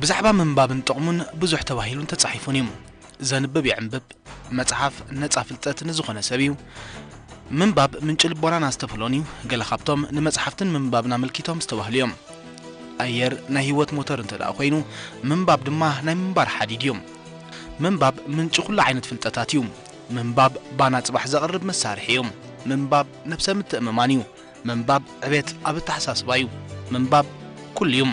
ብዛዕባ ምንባብን ጥቕሙን ብዙሕ ተባሂሉን ተጻሒፉን እዩ። ዘንብብ ይዕንብብ፣ መጽሓፍ ነጻ ፍልጠት ንዝኾነ ሰብ እዩ። ምንባብ ምንጪ ልቦናን ኣስተብህሎን እዩ። ገለ ካብቶም ንመጽሓፍትን ምንባብን ኣመልኪቶም ዝተባህሉ እዮም። ኣየር ናይ ህይወት ሞተር እንተ ደኣ ኮይኑ፣ ምንባብ ድማ ናይ ምንባር ሓዲድ እዩ። ምንባብ ምንጪ ኩሉ ዓይነት ፍልጠታት እዩ። ምንባብ ባና ጽባሕ ዘቕርብ መሳርሒ እዩ። ምንባብ ነብሰ ምትእምማን እዩ። ምንባብ ዕቤት ኣብ ኣተሓሳስባ እዩ። ምንባብ ኩሉ እዩ።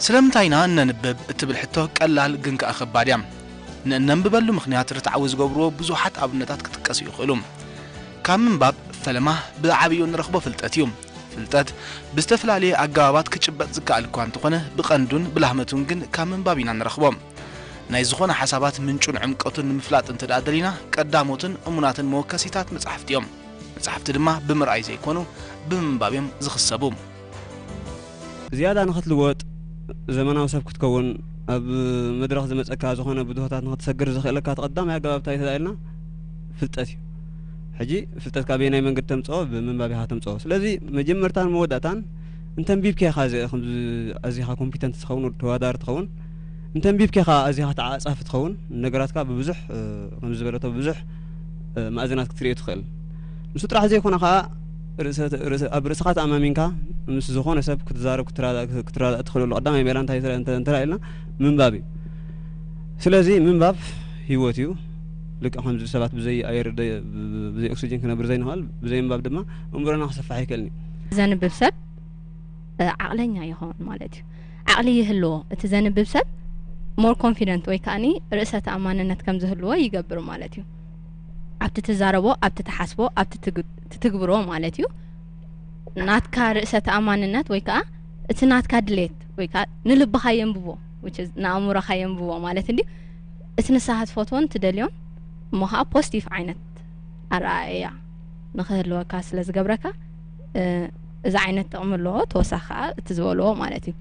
ስለምንታይ ኢና እነንብብ እትብል ሕቶ ቀላል ግን ከኣ ከባድ እያ። ንእነንብበሉ ምኽንያት ርትዓዊ ዝገብርዎ ብዙሓት ኣብነታት ክጥቀሱ ይኽእሉ። ካብ ምንባብ ፈለማ ብዓብዩ እንረኽቦ ፍልጠት እዩ። ፍልጠት ብዝተፈላለየ ኣገባባት ክጭበጥ ዝከኣል እኳ እንተኾነ፣ ብቐንዱን ብላህመቱን ግን ካብ ምንባብ ኢና ንረኽቦ። ናይ ዝኾነ ሓሳባት ምንጩን ዕምቀቱን ንምፍላጥ እንተ ደኣ ደሊና፣ ቀዳሞትን እሙናትን መወከሲታት መጻሕፍቲ እዮም። መጻሕፍቲ ድማ ብምርኣይ ዘይኮኑ፣ ብምንባብ እዮም ዝኽሰቡ። ዝያዳ ንኽትልወጥ፣ ዘመናዊ ሰብ ክትከውን፣ ኣብ መድረኽ ዝመጸካ ዝኾነ ብድሆታት ንኽትሰግር ዘኽእለካ እቲ ቀዳማይ ኣገባብ እንታይ ተባሂልና? ፍልጠት እዩ። ሕጂ ፍልጠት ካበየናይ መንገዲ ተምጽኦ? ብምንባብ ኢኻ ተምጽኦ። ስለዚ መጀመርታን መወዳእታን እንተንቢብካ ኢኻ እዚ-፣ ከምዚ ኣዚኻ ኮምፒተንት ትኸውን፣ ተወዳዳሪ ትኸውን። እንተንቢብካ ኢኻ ኣዚኻ ተዓጻፊ ትኸውን። ነገራትካ ብብዙሕ፣ እ፣ ከምዚ ዝበለቶ ብብዙሕ፣ እ፣ ማእዝናት ክትርእዮ ትኽእል። ንሱ ጥራሕ ዘይኮነ ኸኣ ርእሰ-፣ ርእሰ-፣ ኣብ ርእስኻ ተኣማሚንካ ምስ ዝኾነ ሰብ ክትዛረብ፣ ክትረዳእ፣ ክትረዳእ ትኽእለሉ ቀዳማይ ሜላ እንታይ እንተ-፣ እንተ-፣ እንተ ኢልና ምንባብ እዩ። ስለዚ ምንባብ ህይወት እዩ። ልክዕ ከምዚ ሰባት ብዘይ ኣየር ደ-፣ ብ-፣ ብ-፣ ብዘይ ኦክሲጅን ክነብር ዘይንኽእል፣ ብዘይ ምንባብ ድማ እምብሮና ክሰፍሕ ኣይክእልን እዩ። ዘንብብ ሰብ፣ እ፣ ዓቕለኛ ይኸውን ማለት እዩ። ዓቕሊ ይህልዎ። እቲ ዘንብብ ሰብ ሞር ኮንፊደንት ወይ ከኣኒ ርእሰ ተኣማንነት ከም ዝህልዎ ይገብር ማለት እዩ። ኣብቲ ትዛረቦ፣ ኣብቲ ትሓስቦ፣ ኣብቲ ትግ-፣ ትትግብሮ ማለት እዩ። ናትካ ርእሰ ተኣማንነት ወይ ከኣ እቲ ናትካ ድሌት ወይ ከኣ ንልብኻ የንብቦ፣ which is ንኣእምሮኻ የንብቦ ማለት እንድዩ። እቲ ንስኻ ትፈትዎን ትደልዮን እሞ ኸኣ ፖዚቲቭ ዓይነት ኣረኣእያ ንኽህልወካ ስለ ዝገብረካ፣ እ፣ እዚ ዓይነት ጥቕሚ ኣለዎ። ተወሳኺ ከኣ እቲ ዝበልዎ ማለት እዩ።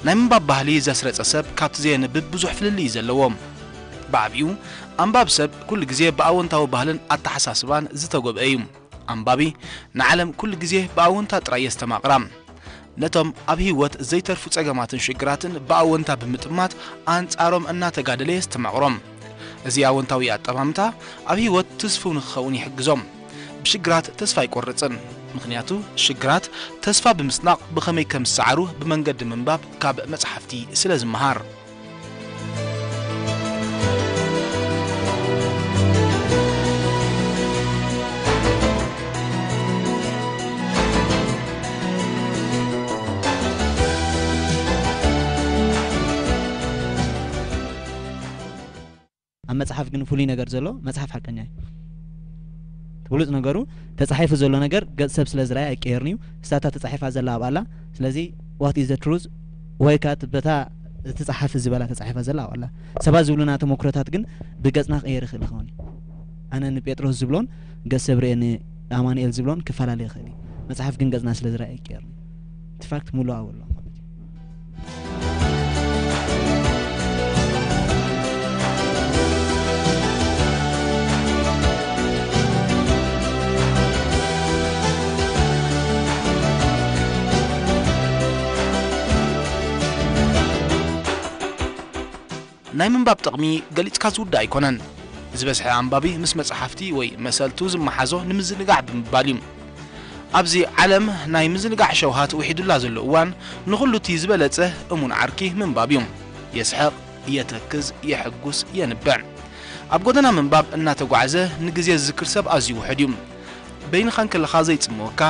ናይ ምንባብ ባህሊ ዘስረጸ ሰብ ካብቲ ዘየንብብ ብዙሕ ፍልልይ እዩ ዘለዎ። ብዓቢኡ፣ ኣንባቢ ሰብ ኩሉ ግዜ ብኣወንታዊ ባህልን ኣተሓሳስባን ዝተጎብአ እዩ። ኣንባቢ ንዓለም ኩሉ ግዜ ብኣወንታ ጥራይ የስተማቕራ። ነቶም ኣብ ህይወት ዘይተርፉ ጸገማትን ሽግራትን ብኣወንታ ብምጥማት ኣንጻሮም እናተጋደለ የስተማቕሮም። እዚ ኣወንታዊ ኣጠማምታ ኣብ ህይወት ትስፉው ንኽኸውን ይሕግዞም። ብሽግራት ተስፋ ኣይቆርጽን። ምኽንያቱ ሽግራት ተስፋ ብምስናቕ ብኸመይ ከም ዝሰዓሩ ብመንገዲ ምንባብ ካብ መጽሓፍቲ ስለ ዝመሃር። ኣብ መጽሓፍ ግን ፍሉይ ነገር ዘሎ፣ መጽሓፍ ሓቀኛ እዩ። እቲ ብሉጽ ነገሩ፣ ተጻሒፉ ዘሎ ነገር ገጽ ሰብ ስለ ዝረኣየ ኣይቀየርን እዩ። እሳታ ተጻሒፋ ዘላ ኣብኣ ኣላ። ስለዚ what is the truth? ወይ ከኣ በታ እቲ ጸሓፊ ዝበላ ተጻሒፋ ዘላ ኣብኣ ኣላ። ሰባት ዝብሉና ተመክሮታት ግን ብገጽና ክቕየር ይኽእል ይኸውን እዩ። ኣነ ንጴጥሮስ ዝብሎን ገጽ ሰብ ርእየ ንኣማኑኤል ዝብሎን ክፈላለ ይኽእል እዩ። መጽሓፍ ግን ገጽና ስለ ዝረኣየ ኣይቀየርን እዩ። እቲ ፋክት ምሉእ ኣብኡ ኣሎ ማለት እዩ። ናይ ምንባብ ጥቕሚ ገሊጽካ ዝውዳእ ኣይኮነን። ዝበዝሐ ኣንባቢ ምስ መጽሓፍቲ ወይ መሰልቱ ዝመሓዞ ንምዝንጋዕ ብምባል እዩ። ኣብዚ ዓለም ናይ ምዝንጋዕ ሸውሃት ውሒዱላ ዘሎ እዋን፣ ንኹሉ እቲ ዝበለጸ እሙን ዓርኪ ምንባብ እዩ። የስሕቕ፣ የተክዝ፣ የሐጉስ፣ የንብዕ። ኣብ ጎደና ምንባብ እናተጓዕዘ ንግዜ ዝዝክር ሰብ ኣዝዩ ውሑድ እዩ። በይንኻ እንከለኻ ዘይጽምወካ፣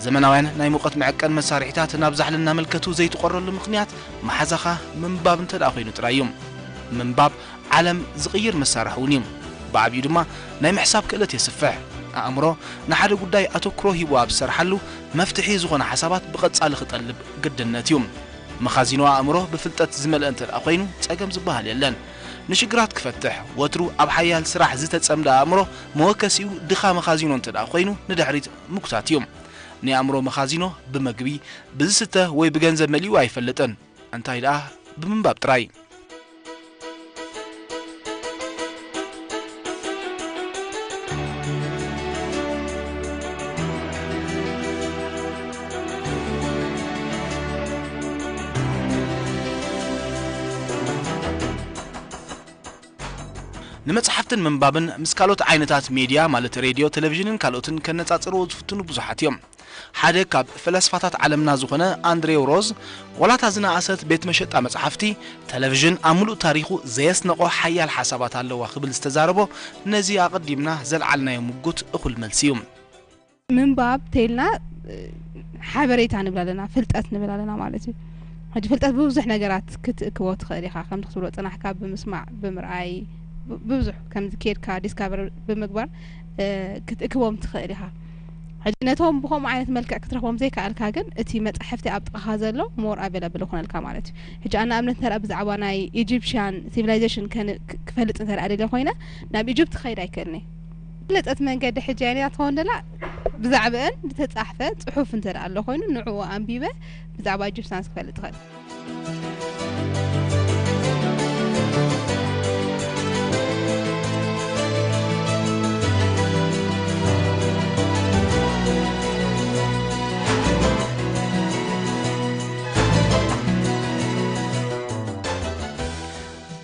ዘመናውያን ናይ ሙቐት መዐቀን መሳርሒታት ናብ ዛሕሊ እናመልከቱ ዘይትቖረሉ ምኽንያት፣ መሓዛኻ ምንባብ እንተ ደኣ ኮይኑ ጥራይ እዩ። ምንባብ ዓለም ዝቕይር መሳርሒ እውን እዩ። ብዓብዩ ድማ ናይ ምሕሳብ ክእለት የስፍሕ። ኣእምሮ ንሓደ ጉዳይ ኣተኩሮ ሂቡ ኣብ ዝሰርሓሉ፣ መፍትሒ ዝኾነ ሓሳባት ብቐጻሊ ክጠልብ ግድነት እዩ። መኻዚኖ ኣእምሮ ብፍልጠት ዝመልአ እንተ ደኣ ኮይኑ፣ ጸገም ዝበሃል የለን። ንሽግራት ክፈትሕ፣ ወትሩ ኣብ ሓያል ስራሕ ዝተጸምደ ኣእምሮ፣ መወከሲኡ ድኻ መኻዚኖ እንተ ደኣ ኮይኑ፣ ንድሕሪት ምጉታት እዩ። ናይ ኣእምሮ መኻዚኖ ብመግቢ፣ ብዝስተ ወይ ብገንዘብ መሊኡ ኣይፈልጥን። እንታይ ደኣ ብምንባብ ጥራይ። ንመጽሓፍትን ምንባብን ምስ ካልኦት ዓይነታት ሜድያ፣ ማለት ሬድዮ፣ ቴሌቪዥንን ካልኦትን ከነጻጽርዎ ዝፍትኑ ብዙሓት እዮም። ሓደ ካብ ፈላስፋታት ዓለምና ዝኾነ ኣንድሬው ሮዝ፣ ዋላ እታ ዝነኣሰት ቤት መሸጣ መጽሓፍቲ፣ ቴሌቪዥን ኣብ ምሉእ ታሪኹ ዘየስነቖ ሓያል ሓሳባት ኣለዋ ክብል ዝተዛረቦ፣ ነዚ ኣቐዲምና ዘልዓልናዮ ምጉት እኹል መልሲ እዩ። ምንባብ ተይልና፣ እ፣ ሓበሬታ ንብል ኣለና፣ ፍልጠት ንብል ኣለና ማለት እዩ። ሕጂ ፍልጠት ብብዙሕ ነገራት ክትእክቦ ትኽእል ኢኻ። ከምቲ ክትብሎ ጽናሕካ ብምስማዕ፣ ብምርኣይ፣ ብ-፣ ብብዙሕ ከምዚ ኬድካ ዲስካቨር ብምግባር፣ እ፣ ክትእክቦም ትኽእል ኢኻ። ሕጂ ነቶም ብኸምኡ ዓይነት መልክዕ ክትረኽቦም ዘይከኣልካ ግን፣ እቲ መጻሕፍቲ ኣብ ጥቓኻ ዘሎ ሞር ኣቬለብል ይኾነልካ ማለት እዩ። ሕጂ ኣነ ኣብነት እንተ ደኣ ብዛዕባ ናይ ኢጂፕሽያን ሲቪላይዜሽን ከን-፣ ክ-፣ ክፈልጥ እንተ ደኣ ደልየ ኮይነ፣ ናብ ኢጅፕት ክኸይድ ኣይክእልን እየ። ዝበለጸት መንገዲ ሕጂ ኣየነያ ትኸውን ደላ? ብዛዕባአን ዝተጻሕፈ ጽሑፍ እንተ ደኣ ኣሎ ኮይኑ፣ ንዕኡ ኣንቢበ ብዛዕባ ኢጅፕሽያንስ ክፈልጥ እኽእል።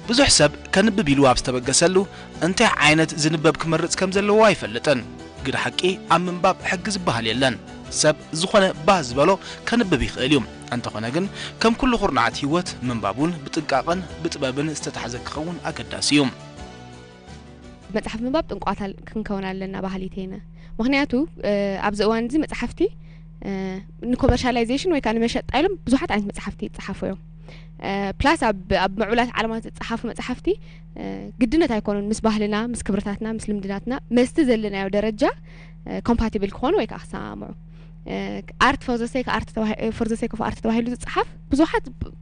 ብዙሕ ሰብ ከንብብ ኢሉ ኣብ ዝተበገሰሉ፣ እንታይ ዓይነት ዝንበብ ክመርጽ ከም ዘለዎ ኣይፈልጥን። ግደ ሓቂ፣ ኣብ ምንባብ ሕጊ ዝበሃል የለን። ሰብ ዝኾነ ባህ ዝበሎ ከንብብ ይኽእል እዩ። እንተኾነ ግን፣ ከም ኩሉ ኩርናዓት ህይወት፣ ምንባብ እውን ብጥንቃቐን ብጥበብን ዝተታሕዘ ክኸውን ኣገዳሲ እዩ። መጽሓፍ ምንባብ ጥንቋታ ክንከውን ኣለና በሃሊት እየ። ምኽንያቱ፣ እ፣ ኣብዚ እዋን እዚ መጽሓፍቲ፣ እ፣ ንኮመርሻላይዜሽን ወይ ከዓ ንመሸጣ ኢሎም ብዙሓት ዓይነት መጽሓፍቲ ይጸሓፉ እዮም። እ፣ ፕላስ ኣብ፣ ኣብ ምዕቡላት ዓለማት ዝጸሓፉ መጽሓፍቲ፣ እ፣ ግድነት ኣይኮኑን ምስ ባህልና፣ ምስ ክብርታትና፣ ምስ ልምድናትና፣ ምስቲ ዘለናዮ ደረጃ፣ እ፣ ኮምፓቲብል ክኾኑ ወይ ከዓ ክሰማምዑ። እ፣ ኣርት ፎር ዘ ሴክ ኣርት ተባሂ-፣ ፎር ዘ ሴክ ኦፍ ኣርት ተባሂሉ ዝጸሓፍ ብዙሓት ብ-፣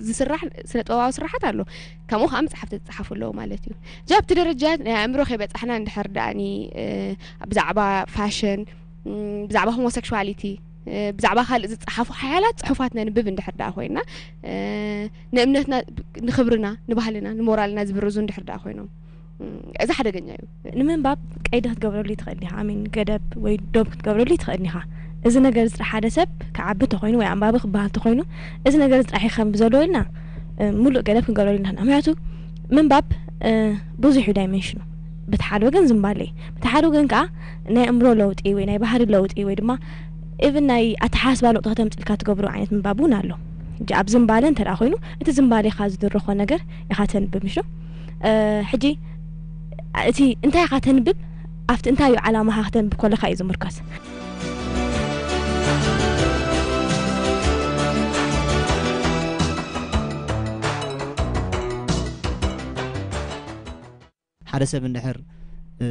ዝስራሕ ስነ ጥበባዊ ስራሓት ኣሎ። ከምኡ ከዓ መጽሓፍቲ ዝጸሓፉ ኣለዉ ማለት እዩ። እዚ ኣብቲ ደረጃ ናይ ኣእምሮ ከይበጻሕና እንድሕር ደኣኒ፣ እ፣ ብዛዕባ ፋሽን፣ ም፣ ብዛዕባ ሆሞሴክሹዋሊቲ፣ እ፣ ብዛዕባ ካልእ ዝጸሓፉ ሓያላት ጽሑፋት ነንብብ እንድሕር ደኣ ኮይና፣ እ፣ ንእምነትና፣ ንኽብርና፣ ንባህልና፣ ንሞራልና ዝብርዙ እንድሕር ደኣ ኮይኖም፣ ም፣ እዚ ሓደገኛ እዩ። ንምንባብ ቀይዲ ክትገብረሉ ትኽእል ኢኻ። ኣሚን፣ ገደብ ወይ ዶብ ክትገብረሉ ትኽእል ኢኻ። እዚ ነገር እዚ ጥራሕ ሓደ ሰብ ክዓቢ ተኾይኑ ወይ ኣንባቢ ክበሃል ተኾይኑ፣ እዚ ነገር እዚ ጥራሕ ይኸም ብዘሎ ኢልና፣ እ፣ ሙሉእ ገደብ ክንገብረሉ ኢና። ምኽንያቱ ምንባብ፣ እ፣ ብዙሕ እዩ ዳይሜንሽኑ። በቲ ሓደ ወገን ዝንባለ እዩ። በቲ ሓደ ወገን ከዓ ናይ ኣእምሮ ለውጢ ወይ ናይ ባህሪ ለውጢ ወይ ድማ ኢቭን ናይ ኣተሓሳስባ ለውጢ ከተምፅልካ ትገብሮ ዓይነት ምንባብ እውን ኣሎ። ሕጂ ኣብ ዝንባለ እንተ ደኣ ኮይኑ፣ እቲ ዝንባሌኻ ዝድርኾ ነገር ኢኻ ተንብብ፣ ምሽ ዶ? እ፣ ሕጂ እቲ እንታይ ኢኻ ተንብብ፣ ኣብቲ እንታይ እዩ ዓላማኻ ከተንብብ ከለኻ እዩ ዝምርኮስ። ሓደ ሰብ እንድሕር፣ እ፣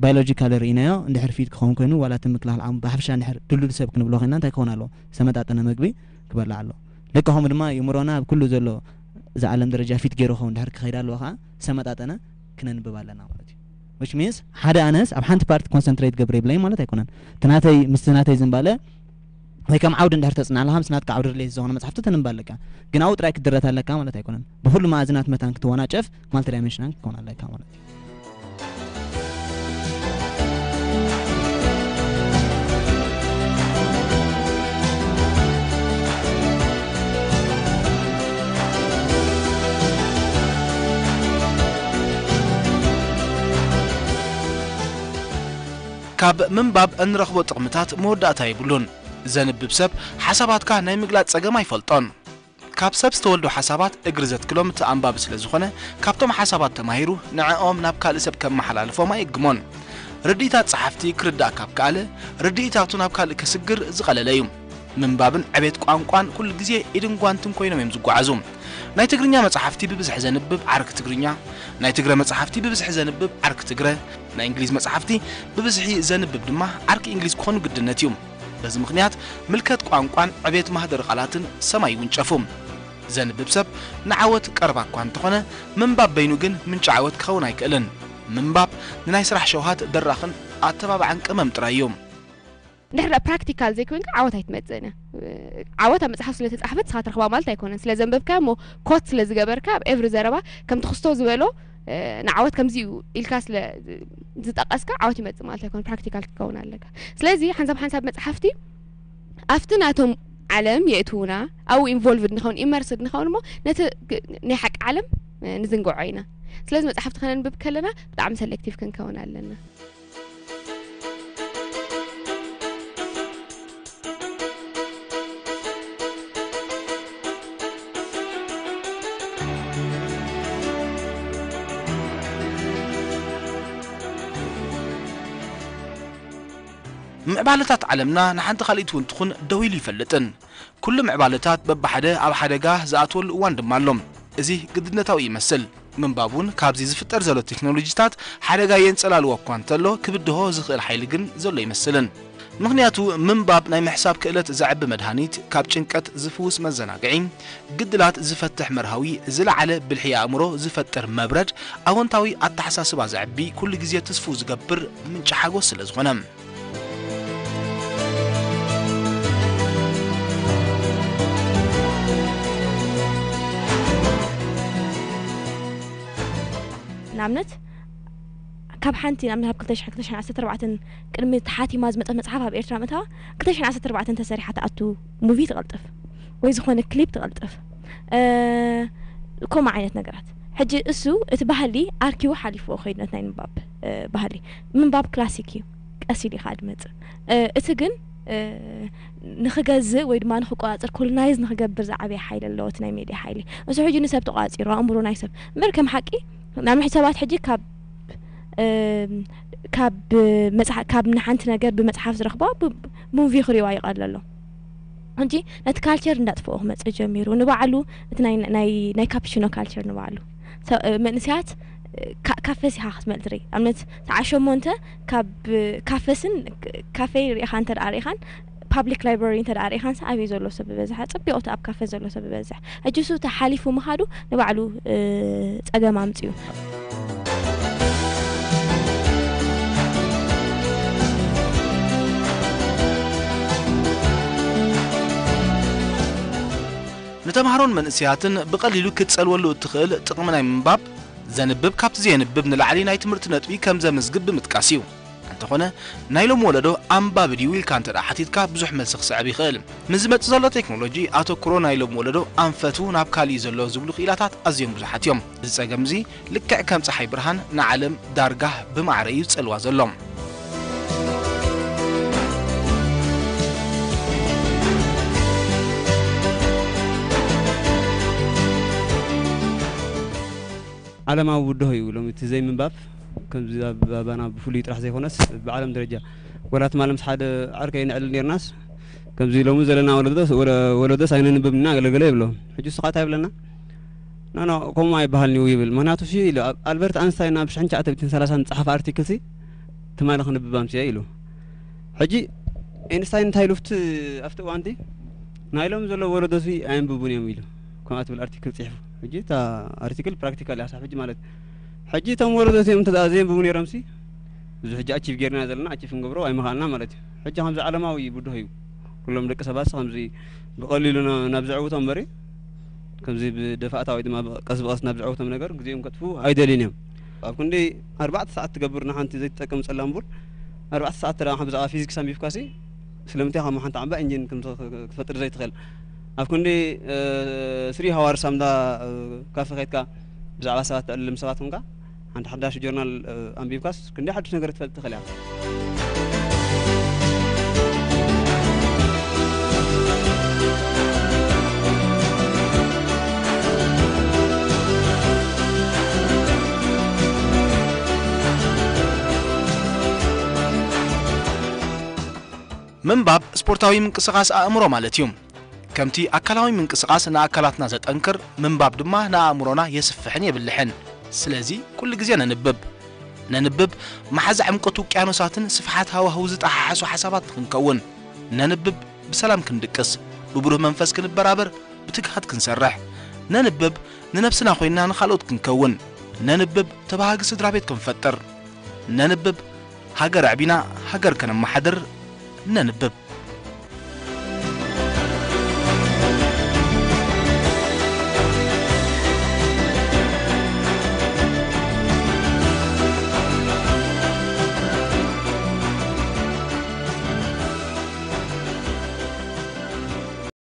ባዮሎጂካሊ ርኢናዮ፣ እንድሕር ፊት ክኸውን ኮይኑ፣ ዋላ እቲ ምክልኻል ዓቕሙ ብሓፈሻ እንድሕር ድልዱል ሰብ ክንብሎ ኮይንና እንታይ ክኸውን ኣለዎ? ዝተመጣጠነ መግቢ ክበልዕ ኣለዎ። ልክዕ ከምኡ ድማ የእምሮና ኣብ ኩሉ ዘሎ እዚ ዓለም ደረጃ ፊት ገይሩ ክኸውን እንድሕር ክኸይድ ኣለዎ ከዓ ዝተመጣጠነ ክነንብብ ኣለና ማለት እዩ። Which means ሓደ ኣነስ ኣብ ሓንቲ ፓርቲ ኮንሰንትሬት ገብረ ይብለይ ማለት ኣይኮነን። እቲ ናተይ፣ ምስቲ ናተይ ዝንባለ ወይ ከም ዓውዲ እንድሕር ተጽንዕ ኣለኻ፣ ምስ ናትካ ዓውዲ ሪሌት ዝኾነ መጽሓፍቲ ተንብብ ኣለካ። ግን ኣብኡ ጥራይ ክትድረት ኣለካ ማለት ኣይኮነን። ብኹሉ መኣዝናት መታን ክትወናጨፍ፣ ማልቲ ዳይሜንሽናል ክትከውን ኣለካ ማለት እዩ። ካብ ምንባብ እንረኽቦ ጥቕምታት መወዳእታ የብሉን። ዘንብብ ሰብ ሓሳባትካ ናይ ምግላጽ ጸገም ኣይፈልጦን። ካብ ሰብ ዝተወልዱ ሓሳባት እግሪ ዘትክሎም እቲ ኣንባቢ ስለ ዝኾነ፣ ካብቶም ሓሳባት ተማሂሩ ንዕኦም ናብ ካልእ ሰብ ከመሓላልፎም ኣይእግሞን። ርድኢታት ጸሓፍቲ ክርዳእ ካብ ከኣለ፣ ርድኢታቱ ናብ ካልእ ከስግር ዝቐለለ እዩ። ምንባብን ዕቤት ቋንቋን ኩሉ ግዜ ኢድን ጓንትን ኮይኖም እዮም ዝጓዓዙ። ናይ ትግርኛ መጻሕፍቲ ብብዝሒ ዘንብብ ዓርኪ ትግርኛ፣ ናይ ትግረ መጻሕፍቲ ብብዝሒ ዘንብብ ዓርኪ ትግረ፣ ናይ እንግሊዝ መጻሕፍቲ ብብዝሒ ዘንብብ ድማ ዓርኪ እንግሊዝ ክኾኑ ግድነት እዩ። በዚ ምኽንያት ምልከት ቋንቋን ዕቤት ማህደር ቃላትን ሰማይ ይውንጨፉ። ዘንብብ ሰብ ንዓወት ቀረባ እኳ እንተኾነ፣ ምንባብ በይኑ ግን ምንጪ ዓወት ክኸውን ኣይክእልን። ምንባብ ንናይ ስራሕ ሸውሃት ደራኽን ኣተባባዕን ቅመም ጥራይ እዩ። ድሕሪ ፕራክቲካል ዘይኮይንካ ዓወት ኣይትመጽእን እያ። ዓወት ኣብ መጽሓፍ ስለ ተጻሕፈት ንስኻ ትረኽባ ማለት ኣይኮነን። ስለ ዘንበብካያ እሞ ኮት ስለ ዝገበርካ ኣብ ኤቭሪ ዘረባ ከምቲ ክስቶ ዝበሎ፣ እ፣ ንዓወት ከምዚ እዩ ኢልካ ስለ ዝጠቀስካ ዓወት ይመጽእ ማለት ኣይኮነን። ፕራክቲካል ክትከውን ኣለካ። ስለዚ ሓንሳብ ሓንሳብ መጽሓፍቲ ኣብቲ ናቶም ዓለም የእትዉና፣ ኣብኡ ኢንቮልቭድ ንኸውን፣ ኢመርስድ ንኸውን እሞ ነቲ ግ-፣ ናይ ሓቂ ዓለም፣ እ፣ ንዝንግዖ ኢና። ስለዚ መጽሓፍቲ ከነንብብ ከለና ብጣዕሚ ሰሌክቲቭ ክንከውን ኣለና። ምዕባለታት ዓለምና ንሓንቲ ካልኢት እውን ትኹን ደው ኢሉ ይፈልጥን። ኩሉ ምዕባለታት በብሓደ ኣብ ሓደጋ ዝኣትወሉ እዋን ድማ ኣሎ። እዚ ግድነታዊ ይመስል። ምንባብ እውን ካብዚ ዝፍጠር ዘሎ ቴክኖሎጂታት ሓደጋ የንጸላልዎ እኳ እንተሎ፣ ክብድሆ ዝኽእል ሓይሊ ግን ዘሎ ይመስልን። ምኽንያቱ ምንባብ ናይ ምሕሳብ ክእለት ዘዕቢ መድሃኒት፣ ካብ ጭንቀት ዝፍውስ መዘናግዒ፣ ግድላት ዝፈትሕ መርሃዊ፣ ዝለዓለ ብልሒ ኣእምሮ ዝፈጥር መብረድ፣ ኣወንታዊ ኣተሓሳስባ ዘዕቢ፣ ኩሉ ግዜ ትስፉው ዝገብር ምንጪ ሓጎስ ስለ ዝኾነ። ንኣብነት ካብ ሓንቲ ንኣብነት ካብ ክልተ ሽሕን ክልተ ሽሕን ዓሰርተ ኣርባዕተን ቅድሚ ተሓቲማ ዝመጸት መጽሓፍ ኣብ ኤርትራ ምእታዋ ክልተ ሽሕን ዓሰርተ ኣርባዕተን ተሰሪሓ ትኣቱ ሙቪ ትቐልጥፍ ወይ ዝኾነ ክሊፕ ትቐልጥፍ፣ እ፣ ከምኡ ዓይነት ነገራት። ሕጂ እሱ እቲ ባህሊ ኣርኪቡ ሓሊፍዎ ከይዱ ነቲ ናይ ምንባብ፣ እ፣ ባህሊ። ምንባብ ክላሲክ እዩ፣ ቀስ ኢሉ ኢኻ ድመጽእ። እ፣ እቲ ግን፣ እ፣ ንኽገዝእ ወይ ድማ ንኽቆጻጸር፣ ኮሎናይዝ ንኽገብር ዝዓበየ ሓይሊ ኣለዎ እቲ ናይ ሜድያ ሓይሊ። እሱ ሕጂ ንሰብ ተቆጻጺሩ፣ ኣእምሮ ናይ ሰብ። እምበር ከም ሓቂ፣ ንኣብነት ሰባት ሕጂ ካብ፣ እ፣ ካብ መጽሓ-፣ ካብ ንሓንቲ ነገር ብመጽሓፍ ዝረኽባ ብ-፣ ብሙቪ ክሪዋ ይቐለሎም። ሕጂ ነቲ ካልቸር እንዳጥፍኦ ክመጽእ ጀሚሩ። ንባዕሉ እቲ ናይ፣ ናይ፣ ናይ ካፕቺኖ ካልቸር ንባዕሉ። ሰ-፣ መንእሰያት ካ-፣ ካፈስ ኢኻ ክትመል ትርኢ። ኣብነት ሰዓት ሸሞንተ ካብ ካፈስን ክ-፣ ካፌ ርኢኻ እንተ ደኣ ርኢኻን ፓብሊክ ላይብረሪ እንተ ደኣ ርኢኻን ሰ ኣበይ ዘሎ ሰብ ዝበዝሐ? ጽቢቑ እቲ ኣብ ካፈ ዘሎ ሰብ ዝበዝሕ። ሕጂ እሱ ተሓሊፉ ምኻዱ ንባዕሉ፣ እ፣ ጸገም ኣምጺኡ። ንተምሃሮን መንእሰያትን ብቐሊሉ ክትጸልወሉ እትኽእል ጥቕሚ ናይ ምንባብ፣ ዘንብብ ካብቲ ዘየንብብ ንላዕሊ ናይ ትምህርቲ ነጥቢ ከም ዘምዝግብ ብምጥቃስ እዩ። እንተኾነ፣ ናይ ሎሚ ወለዶ ኣንባቢ ድዩ ኢልካ እንተ ደኣ ሓቲትካ፣ ብዙሕ መልሲ ክስዕብ ይኽእል። ምስ ዝመጽእ ዘሎ ቴክኖሎጂ፣ ኣተኩሮ ናይ ሎሚ ወለዶ ኣንፈቱ ናብ ካልእ እዩ ዘሎ ዝብሉ ክኢላታት ኣዝዮም ብዙሓት እዮም። እዚ ጸገም እዚ፣ ልክዕ ከም ጸሓይ ብርሃን ንዓለም ዳርጋ ብማዕረ እዩ ዝጸልዋ ዘሎ። ዓለማዊ ብድሆ እዩ። ሎሚ እቲ ዘይምንባብ ከምዚ ኣብ ባባና ብፍሉይ ጥራሕ ዘይኮነስ ብዓለም ደረጃ ወላ ትማሊ ምስ ሓደ ዓርከይ ነዕልል ኔርናስ ከምዚ ሎሚ ዘለና ወለዶስ፣ ወለ-፣ ወለዶስ ኣይነንብብን ኢና ገለገለ ይብሎ። ሕጂ እሱ ኸኣ እንታይ ይብለና? ኖ፣ ኖ፣ ከምኡ ኣይበሃልን እዩ ይብል። ምኽንያቱ ሲ ኢሉ ኣብ ኣልበርት ኣንስታይን ኣብ ሽሕን ትሽዓተ ሚእትን ሰላሳን ዝጸሓፈ ኣርቲክል ሲ ትማሊ ክንብብ ኣምስየ ኢሉ። ሕጂ ኤንስታይን እንታይ ኢሉ ኣብቲ፣ ኣብቲ እዋንቲ ናይ ሎሚ ዘሎ ወለዶ ሲ ኣየንብቡን እዮም ኢሉ ከምኣ ትብል ኣርቲክል ጽሒፉ። ሕጂ እታ ኣርቲክል ፕራክቲካል እያ ክሳብ ሕጂ ማለት እዩ። ሕጂ እቶም ወለዶ እዚኦም እንተ ደኣ ዘየንብቡ ነይሮም ሲ እዚ ሕጂ ኣቺቭ ጌርና ዘለና ኣቺቭ ክንገብሮ ኣይምኽኣልና ማለት እዩ። ሕጂ ከምዚ ዓለማዊ ብድሆ እዩ። ኩሎም ደቂ ሰባት ከምዚ ብቐሊሉ ና-፣ ናብ ዘዕውቶም እምበሪ ከምዚ ብደፋእታ ወይ ድማ ብ-፣ ቀስ ብቐስ ናብ ዘዕውቶም ነገር ግዜኦም ከጥፍኡ ኣይደልዩን እዮም። ኣብ ክንዲ ኣርባዕተ ሰዓት ትገብር ንሓንቲ ዘይትጠቅም ጸላም ቡን ኣርባዕተ ሰዓት ተደኣ ብዛዕባ ፊዚክስ ኣንቢብካሲ ስለምንታይ ከም ሓንቲ ዓምባ ኢንጂን ከም ትኽ-፣ ክትፈጥር ዘይትኽእል? ኣብ ክንዲ፣ እ፣ ስሪ ሃዋርስ ኣብ እንዳ፣ እ፣ ካፈ ከይድካ ብዛዕባ ሰባት ተዕልም ሰባት ኮንካ ሓንቲ ሓዳሽ ጆርናል፣ እ፣ ኣንቢብካስ ክንደይ ሓድሽ ነገር ክትፈልጥ ትኽእል ኢኻ። ምንባብ ስፖርታዊ ምንቅስቓስ ኣእምሮ ማለት እዩ። ከምቲ ኣካላዊ ምንቅስቓስ ንኣካላትና ዘጠንክር፣ ምንባብ ድማ ንኣእምሮና የስፍሕን የብልሕን። ስለዚ ኩሉ ግዜ ነንብብ። ነንብብ መሓዛ ዕምቆት ውቅያኖሳትን ስፍሓት ሃዋህው ዝጠሓሓሱ ሓሳባት ንኽንከውን። ነንብብ ብሰላም ክንድቅስ፣ ብብሩህ መንፈስ ክንበራበር፣ ብትግሃት ክንሰርሕ። ነንብብ ንነብስና ኮይንና ንኻልኦት ክንከውን። ነንብብ ተባሃጊ ስድራ ቤት ክንፈጥር። ነንብብ ሃገር ኣዕቢና ሃገር ከነመሓድር። ነንብብ።